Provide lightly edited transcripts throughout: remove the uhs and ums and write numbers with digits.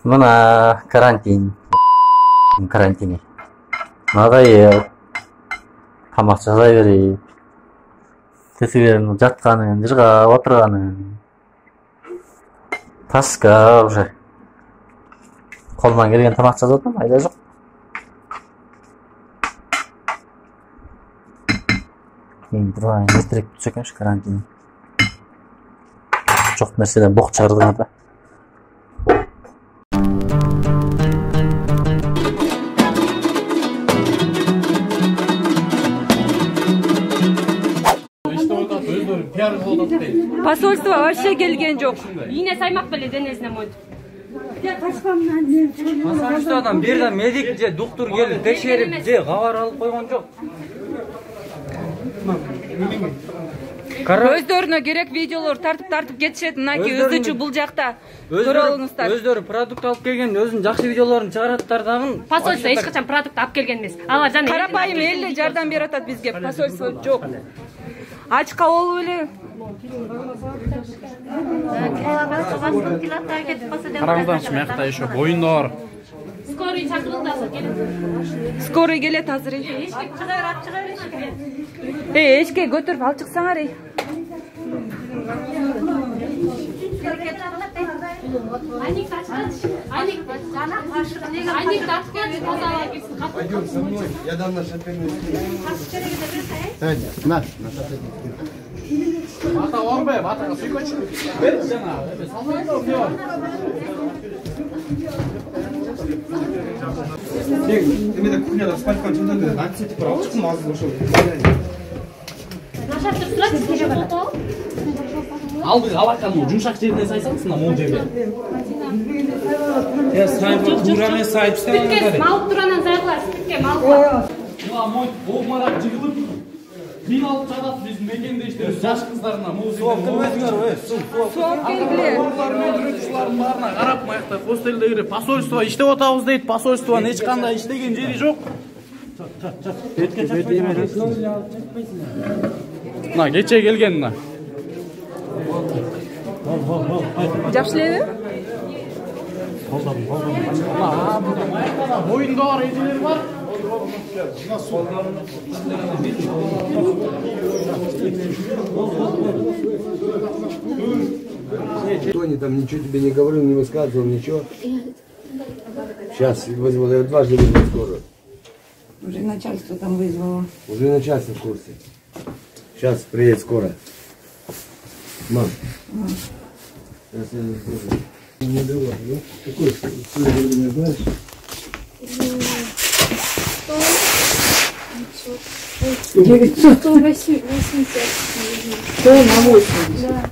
Мына карантини. Надайып, тамак жасай берип, тесиберин жатканын, жыргап отурганын. Таска уже. Колуман келген тамак жасап атам, айла жок. Мен турайын, эртерээк бүтсө экенбиш карантин. Жок нерседен бок чыгардыңар да. Посольство вообще келген жок. Ийне саймак беле денесине мойнуп. Посольстводон бир да медик же доктор келип текшерип же кабар алып койгон жок. Өздөрүнө керек видеолор тартып кетишет. Мынакей өзүчү бул жакта көрө алыңыздар. Өздөрү продукт алып келген, өзүнүн жакшы видеолорун чыгараттар дагы. Посольство эч качан продукт алып келген эмес. Алар жана Карапайым эле жардам берип атат бизге. Посольство жок. Ачка болуп эле. Караңыздарчы, мыякта еще боюндар. Скорый чакырылды азыр келет. Скорый келет азыр. Эчке көтөрүп алып чыксаңар. Айник Пойдем со мной, я дам на шоферную на. Ата орбай, атага сүйкөчү. Бер жана, салмайдыр, не бар? Эмеде кухняда спать канчада да, антисептик бар, алып чыккым азыр ошо. Нашаптыр турат, сиже бар. Алды алакан жумшак жерине сайсаңыз, мына могу жерге. Я сайпы тураны сайпсам. Спиртке мал туранан зайлар, спиртке мал бар. Мына мой обмарак жыгылып мин алып чыгат биздин мекендештерибиз, жаш кыздарына могу Суу келмесиңер, Суу келгиле. өндүрүүчүлөрдүн баарына карап, маякта хостелдеги посольство иштеп атабыз дейт. Посольствонун эч кандай иштеген жери жок. Мына кече келген мына. Жакшы элеби? Боюнда бар эжелер бар. Тони там ничего тебе не говорил, не высказывал, ничего. Сейчас вызвал, я дважды вызвал скорую. Уже начальство там вызвало. Уже начальство в курсе. Сейчас приедет скоро. Мам. Сейчас я скажу. Не давай, да? Какой время знаешь? 900. 180. 100 на 80. Да.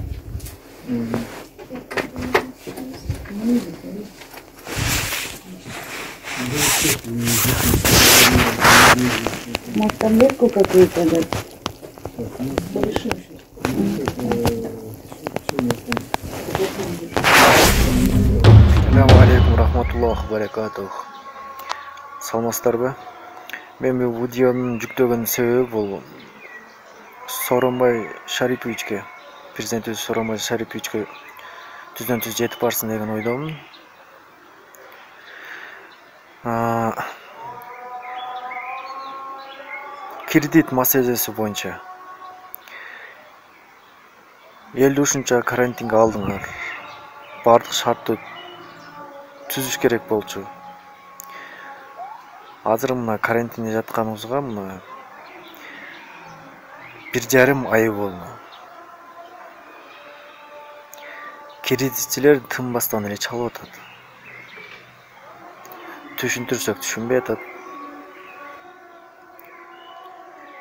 Может, таблетку какую-то дать? Assalamu alaikum rahmatullohi barakatuh. Саламатсыздарбы? Мен бул видеонун жүктөгөн себеби бул Сооронбай Шариповичке, президентибиз Сооронбай Шариповичке түздөн-түз жетип барсын деген ойдомун. Кредит маселеси боюнча элди ушунча карантинге алдыңар. Бардык шартты түзүш керек болчу. Азыр мына карантинде жатканыбызга мына 1,5 ай болду. Кредитчилер тынбастан эле чалып атат. Түшүндүрсөк түшүнбөй атат.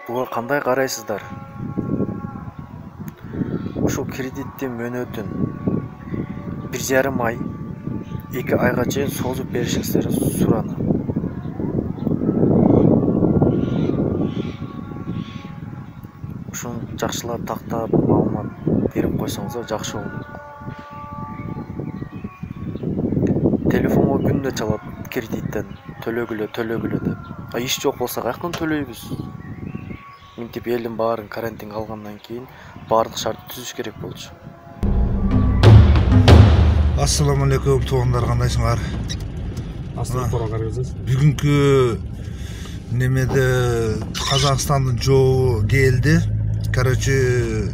Буга кандай карайсыздар? Ушул кредиттин мөөнөтүн 1,5 ай, 2 айга чейин созуп беришиңиздерди суранам. Ушуну жакшылап тактап маалымат берип койсоңуздар жакшы болот. Телефонго күндө чалат кредиттен төлөгүлө деп. Иш жок болсо каяктан төлөйбүз? Мынтип элдин баарын карантинге алгандан кийин баардык шартты түзүш керек болчу. Ассаламу алейкум туугандар, кандайсыңар? Бүгүнкү немеде Казакстандын жообу келди. Короче,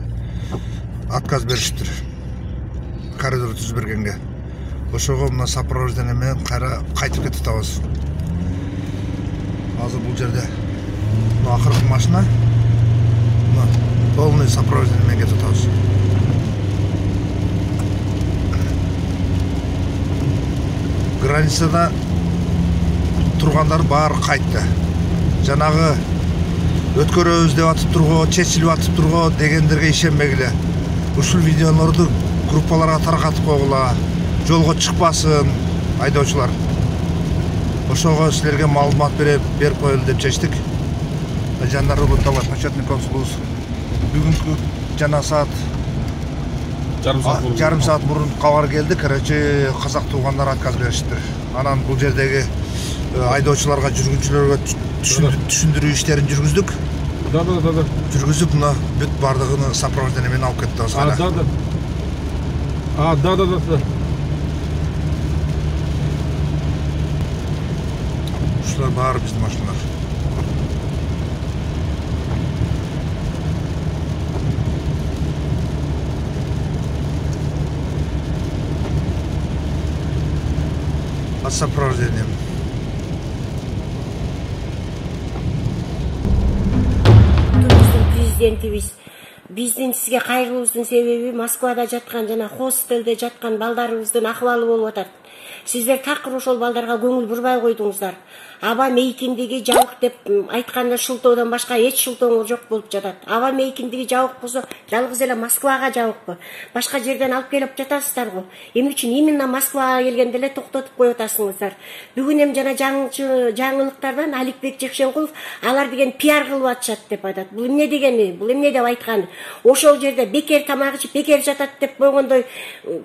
отказ бериштир. Коридор түзүп бергенге. Ошого мына сопровождение менен кайтып кетип атабыз. Азыр бул жерде акыркы машина. Мына полный сопровождение менен кетип атабыз. Границада тургандар баары кайтты. Жанагы өткөрөбүз деп атып турго, чечилип атып турго дегендерге ишенбегиле. Ушул видеолорду группаларга таркатып койгула, жолго чыкпасын айдоочулар. Ошого силерге маалымат берип коелу деп чечтик. Жандар Улутова, почетный консулубуз бүгүнкү жана саат жарым саат мурун кабар келди. Короче, казак туугандар отказ бериштир. Анан бул жердеги айдоочуларга, жүргүнчүлөргө түшүндүрүү иштерин жүргүздүк. Да. Жүргүзүп, мына бүт бардыгын сопровождение менен алып кетти. Да. Ушулар баары биздин машиналар. Сопровождением. Президентибиз биздин сизге кайгыбыздын себеби Москвада жаткан жана хостелде жаткан балдарыбыздын акыбалы болуп атат. Сиздер такыр ошол балдарга көңүл бурбай койдуңуздар. Аба мейкиндиги жабык деп айтканда шылтоодон башка эч шылтооңор жок болуп жатат. Аба мейкиндиги жабык болсо жалгыз эле Москвага жабыкпы? Башка жерден алып келип жатасыздар го. Эмне үчүн именно Москвага келгенде эле токтотуп коюп атасыңыздар? Бүгүн эми жана жаңылыктардан Аликбек Жекшенкулов алар деген пиар кылып атышат деп айтат. Бул эмне дегени? Бул эмне деп айтканы? Ошол жерде бекер тамак ичип бекер жатат деп койгондой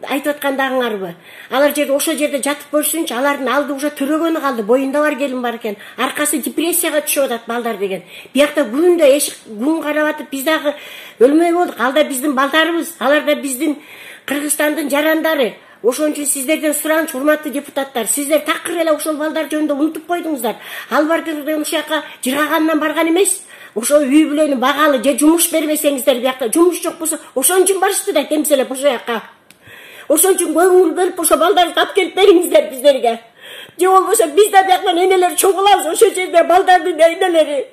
айтып аткандагыңарбы? Алар жерде ошол жерде жатып көрсүнчү, алардын алды уже төрөгөнү калды. Боюнда бар келин бар экен. Аркасы депрессияга түшүп атат балдар деген. Биякта күндө эшик күн карап атып биз дагы өлмөй болдук. Алда биздин балдарыбыз, алар да биздин Кыргызстандын жарандары. Ошон үчүн сиздерден суранчу, урматтуу депутаттар, сиздер такыр эле ошол балдар жөнүндө унутуп койдуңуздар. Албардырдан ушул жака жыргагандан барган эмес. Ошол үй бүлөнү багалы же жумуш бербесеңиздер, биякта жумуш жок болсо ошон үчүн барышты да темселеп ошол жака. Ошон үчүн көңүл бөлүп ошо балдарды алып келип бериңиздер биздерге. Же болбосо биз да бияктан энелер чогулабыз, ошол жерде балдардын энелери.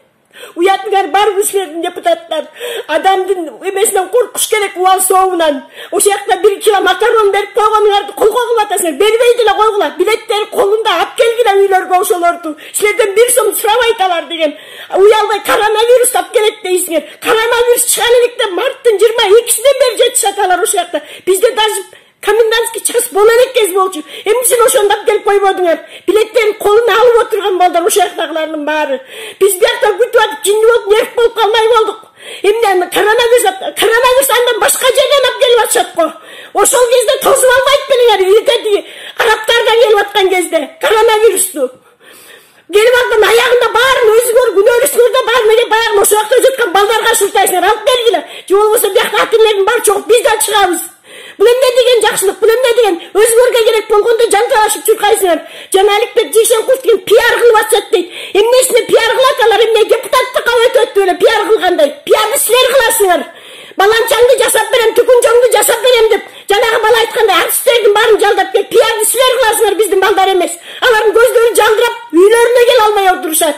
Уятыңар барбы силердин депутаттар? Адамдын эмесинен коркуш керек, убал сообунан. Ошол жакта 1 кило макарон берип койгонуңарды колго кылып атасыңар. Бербей деле койгула. Билеттер колунда алып келгиле үйлөргө ошолорду. Силерден 1 сом сурабайт алар деген. Уялбай коронавирус алып келет дейсиңер. Коронавирус чыган электе марттын 22-синен бери жетишат алар ошол жакта. Бизде даже комендантский час боло элек кез болчу. Эмнесин ошондап келип койбодуңар? Билеттерин колуна алып отурган балдар ошол жактагылардын баары. Биз бияктан күтүп атып жинди болуп нерв болуп калмай болдук. Эмне коронавирус андан башка жерден алып келип атышат го. Ошол кезде тосуп албайт белеңер, илгери арабтардан келип аткан кезде коронавирусту. Келип аткан аягында баарын өзүңөр күнөөрүңөрдө баарын эле баягы ошол жакта жаткан балдарга шылтайсыңар, алып келгиле. Же болбосо биякта ата-энелердин баары чогуп биз да чыгабыз. Бул эмне деген жакшылык, бул эмне деген өзүңөргө керек болгондо жанталашып чуркайсыңар. Жана Аликбек Жекшенкулов деген пиар кылып атышат дейт. Эмнесине пиар кылат алар? Эмне депутаттыкка өтөт эле пиар кылгандай? Пиарды силер кыласыңар. Баланчаңды жасап берем, түкүнчөңдү жасап берем деп жанагы бала айткандай артисттердин баарын жалдап келип пиарды силер кыласыңар, биздин балдар эмес. Алардын көздөрү жалдырап, үйлөрүнө келе албай отурушат.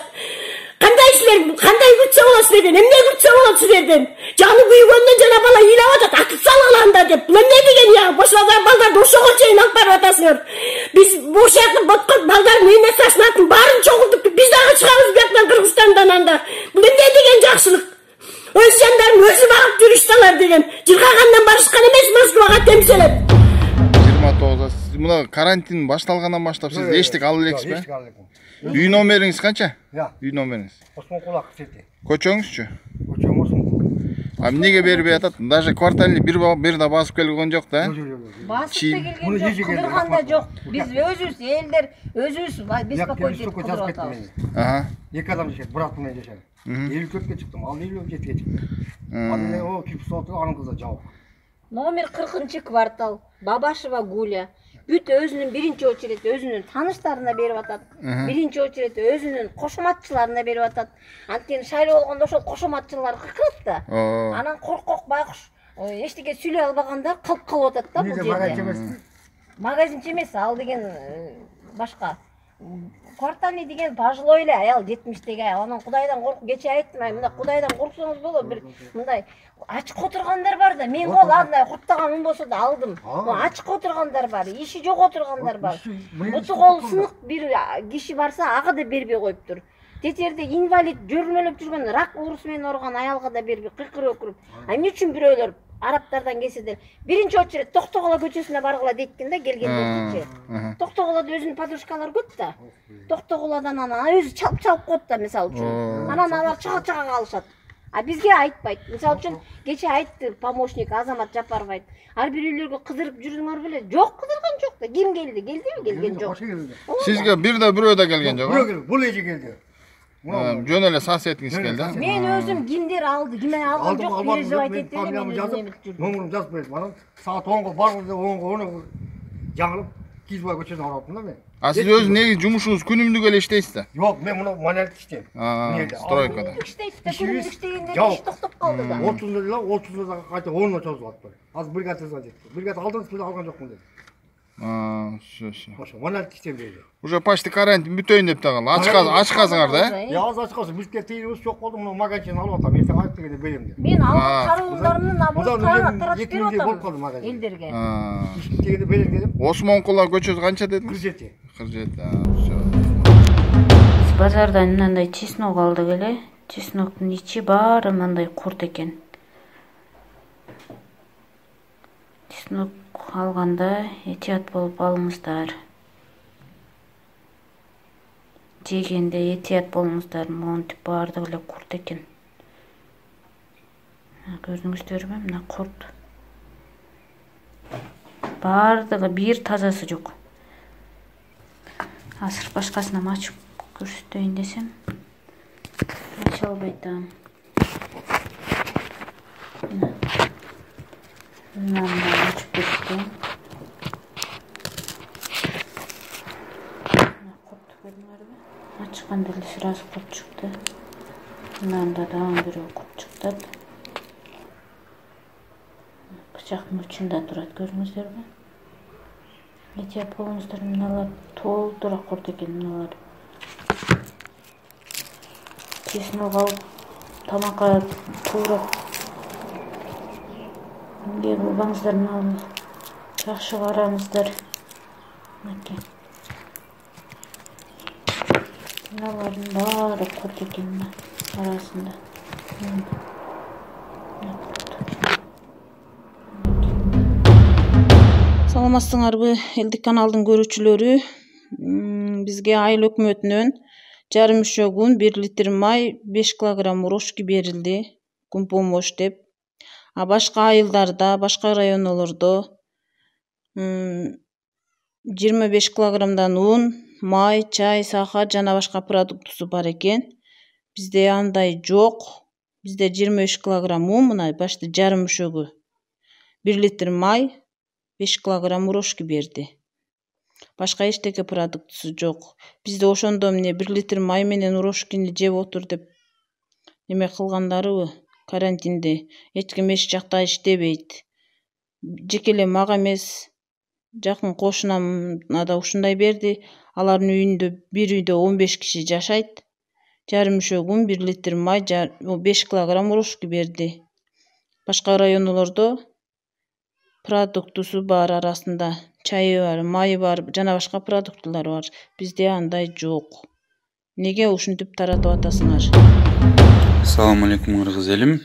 Кандай силер, кандай күтсө болот силерден? Эмне күтсө болот силерден? Жаны күйгөндөн жана бала ыйлап атат, атып салгыланда деп. Бул эмне деген я? Бошолар балдарды ошого чейин алып барып атасыңар. Биз бош жакты боткон балдардын эмесин атын баарын чогултуп, биз дагы чыгабыз бияктан Кыргызстандан анда. Бул эмне деген жакшылык? Өз жандарын өзү багып жүрүшталар деген. Жыргагандан барышкан эмес Москвага темселеп. 29. Мына карантин башталгандан баштап сиз эчтек ала элексизби? Үй номериңиз канча? Үй номериңиз. Осмон кулак сети. Көчөңүзчү? Көчөм Осмон. Эмнеге бербей атат? Даже квартальный бир да басып келген жок да? Басып келген жок, кыдырганда жок. Биз өзүбүз элдер, өзүбүз беспокойтуп кыдырып атабыз. Ага. 2 адам жашайт, бир ат менен жашайт. 54-кө чыктым, ал 57-ке чыкты. Анан о кип соту анын кызы жабык. Номер 40-квартал, Бабашева Гуля. бүт өзүнүн биринчи очередь өзүнүн тааныштарына берип атат. Биринчи очередь өзүнүн кошоматчыларына берип атат. Анткени шайлоо болгондо ошол кошоматчылар кыркырат да. Анан коркок байкуш эчтеке сүйлөй албагандар калып атат да бул жерде. Магазинчи эмес, ал деген башка. Квартальный деген пожилой эле аял 70-теги. Анан Кудайдан корк, кече айттым, мындай Кудайдан корксоңуз болот, бир мындай ачык отургандар бар да. Мен кол андай курттаган ун болсо да алдым. Ачык отургандар бар, иши жок отургандар бар. Буту кол сынык бир киши барса, ага да бербей коюптур. Тетерде инвалид жөрмөлөп жүргөн рак оорусу менен ооруган аялга да бербей кыйкырып өкүрүп. Эмне үчүн бирөөлөр Арабтардан келсе де биринчи очередь Токтоголо көчөсүнө баргыла дейткенде келгендерчи. Токтоголодо өзүнүн подружкалары көп да. Токтоголодон анан өзү чалып коет да, мисалы үчүн. Анан алар чага калышат. А бизге айтпайт. Мисалы үчүн кече айтты помощник Азамат Жапаров айтты. Ар бир үйлөргө кыдырып жүрүңөр беле? Жок, кыдырган жок да. Ким келди? Келдиби? Келген жок. Сизге бирөө да келген жок? Бирөө, бул эже келди. Жөн эле соседиңиз келди. Мен өзүм кимдер алды, кимден алган жок, переживать этти эле мен жазып, номерин жазып бердим. Анан саат 10го барганда 10го жаңылып Кизбай көчөсүнө бараттым да мен. А сиз өзү неги жумушуңуз күнүмдүк эле иштейсиз да? Жок, мен муну манялык иштейм. Стройкада. Иштейт да, күнүмдүк иштегендер иш токтоп калды да. 30-да кайта 10-на чозулат. Азыр бригадага жетти. Бригада алдыңыз беле алган жокмун деп. Ошо. Манялык иштейм дейли. Уже почти карантин бүтөйүн деп тагыл. Ачкасыңар да? Азыр ачкасы, бизге тийибиз жок болду, муну магазин алып атам, эртең алып келгенде берем деп. Мен алган кароолдарымдын абонент таратып берип атам элдерге. Дегенде берем дедим. Осмон Кула көчөсү канча дедиңиз? 47. 47. Базардан мындай чеснок алдык эле. Чесноктун ичи баары мындай курт экен. Чеснок алганда этият болуп алыңыздар. Жегенде этият болуңуздар, монтип баардыгы эле курт экен. Көрдүңүздөрбү, мына курт. Баардыгы бир тазасы жок. Азыр башкасынан ачып көрсөтөйүн десем, ача албай атам. Мынаны ачып берсем. Ачканда эле сразу курт чыкты. Мында дагы бирөө курт чыкты. Бычактын учунда турат, көрдүңүздөрбү? Этият болуңуздар, мыналар толтура курт экен, мыналар. Чеснок алып, тамакка туурап келип албаңыздар, мына жакшы караңыздар. Мынакей. Мыналардын баары курт экен арасында. Саламатсыңарбы, элдик каналдын көрүүчүлөрү? Бизге айыл өкмөтүнөн жарым мүшөгүн 1 литр май, 5 килограмм урошки берилди, күн помощь деп. А башка айылдарда, башка райондордо 25 килограммдан un, май, чай, сахар жана башка продуктусу бар экен. Бизде андай жок. Бизде 25 килограмм un, мына башты жарым мүшөгү 1 литр май, 5 килограмм урошки берди. Башка эчтеке продуктусу жок. Бизде ошондо эмне 1 литр май менен урошкини жеп отур деп эме кылгандарыбы? Карантинде эч ким эч жакта иштебейт. Жеке эле мага эмес, жакын кошунама да ушундай берди. Алардын үйүндө, бир үйдө 15 киши жашайт. Жарым мүшөгүн 1 литр май, 5 килограмм урошки берди. Башка райондордо продуктусу бар арасында. Чайы бар, майы бар, жана башка продуктулар бар. Бизде андай жок. Неге ушинтип таратып атасыңар? Assalamu alaikum кыргыз элим.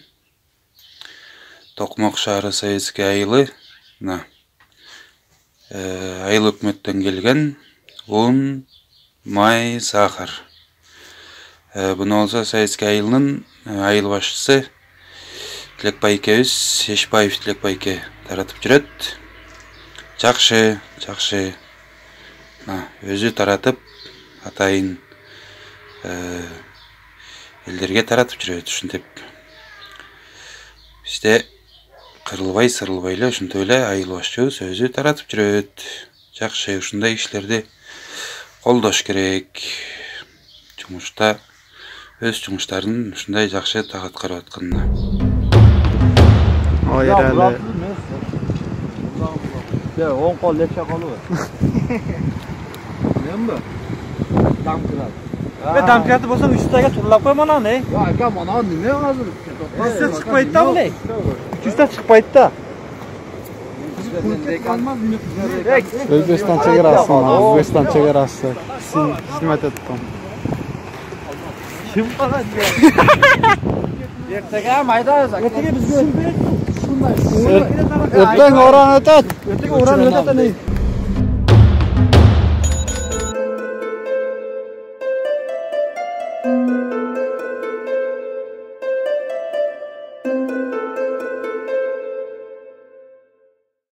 Токмок шаары Советский айылы. Айыл өкмөттөн келген un, май, сахар. Буну болсо Советский айылынын айыл башчысы Тилекбайкебиз, Эшбаев Тилекбайке таратып жүрөт. Жакшы. Өзү таратып, атайын элдерге таратып жүрөт, ушинтип. Бизде кырылбай, сырылбай эле ушинтип эле айыл башчыбыз өзү таратып жүрөт. жакшы ушундай иштерди колдош керек. Жумушта өз жумуштарын ушундай жакшы так аткарып атканына. Ойралы. Ya 10 kol leçe kolu var. Ne mi? Damkırat. Ve damkıratı bolsa üstüge turlap koy mana ne? Ya aka mana nime hazır? Üstüge çıkmaydı da bu ne? Üstüge çıkmaydı da. Özbekistan chegarasi, O'zbekiston chegarasi. Xizmat etdim. Kim qiladi? Ertaga mayda ertaga bizga shunday. O'tdan o'ran o'tadi. O'tdan o'ran o'tadi.